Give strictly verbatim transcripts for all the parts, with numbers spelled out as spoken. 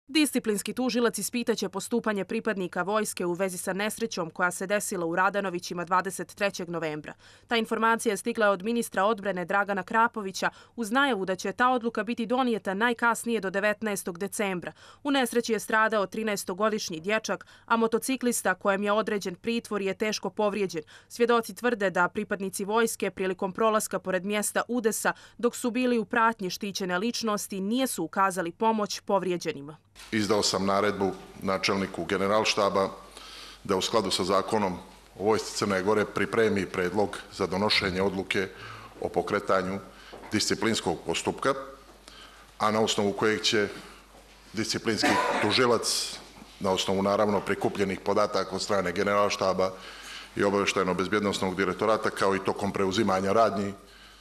Disciplinski tužilac ispitaće postupanje pripadnika vojske u vezi sa nesrećom koja se desila u Radanovićima dvadeset trećeg novembra. Ta informacija je stigla od ministra odbrane Dragana Krapovića uz najavu da će ta odluka biti donijeta najkasnije do devetnaestog decembra. U nesreći je stradao trinaestogodišnji dječak, a motociklista kojem je određen pritvor je teško povrijeđen. Svjedoci tvrde da pripadnici vojske prilikom prolaska pored mjesta udesa dok su bili u pratnji štićene ličnosti nisu ukazali pomoć povrijeđenima. Izdao sam naredbu načelniku Generalštaba da u skladu sa zakonom o vojsci Crne Gore pripremi predlog za donošenje odluke o pokretanju disciplinskog postupka, a na osnovu kojeg će disciplinski tužilac, na osnovu naravno prikupljenih podataka od strane Generalštaba i obavještajno-bezbjednosnog direktorata, kao i tokom preuzimanja radnji,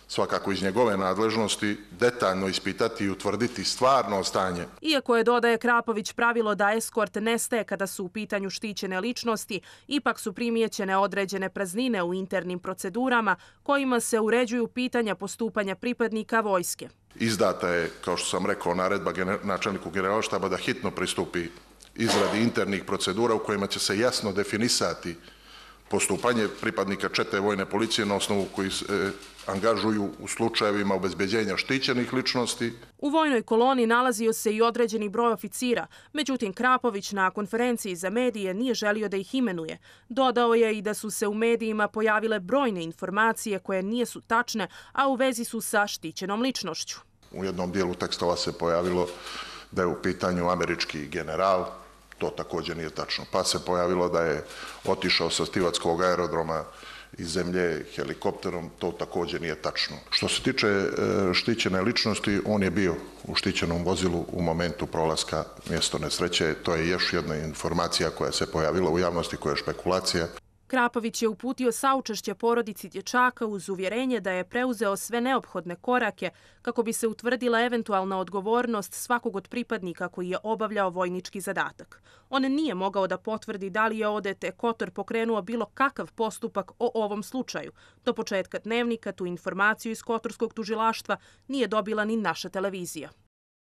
svakako iz njegove nadležnosti, detaljno ispitati i utvrditi stvarno stanje. Iako je, dodaje Krapović, pravilo da eskort nestaje kada su u pitanju štićene ličnosti, ipak su primijećene određene praznine u internim procedurama kojima se uređuju pitanja postupanja pripadnika vojske. Izdata je, kao što sam rekao, naredba načelniku Generalštaba da hitno pristupi izradi internih procedura u kojima će se jasno definisati postupanje pripadnika čete vojne policije na osnovu koji se angažuju u slučajevima obezbeđenja štićenih ličnosti. U vojnoj koloni nalazio se i određeni broj oficira, međutim Krapović na konferenciji za medije nije želio da ih imenuje. Dodao je i da su se u medijima pojavile brojne informacije koje nisu tačne, a u vezi su sa štićenom ličnošću. U jednom dijelu tekstova se pojavilo da je u pitanju američki general. To također nije tačno. Pa se pojavilo da je otišao sa Stivatskog aerodroma iz zemlje helikopterom. To također nije tačno. Što se tiče štićene ličnosti, on je bio u štićenom vozilu u momentu prolaska mjesto nesreće. To je još jedna informacija koja se pojavila u javnosti, koja je špekulacija. Krapović je uputio saučešće porodici dječaka uz uvjerenje da je preuzeo sve neophodne korake kako bi se utvrdila eventualna odgovornost svakog od pripadnika koji je obavljao vojnički zadatak. On nije mogao da potvrdi da li je Odete Kotor pokrenuo bilo kakav postupak o ovom slučaju. Do početka dnevnika tu informaciju iz Kotorskog tužilaštva nije dobila ni naša televizija.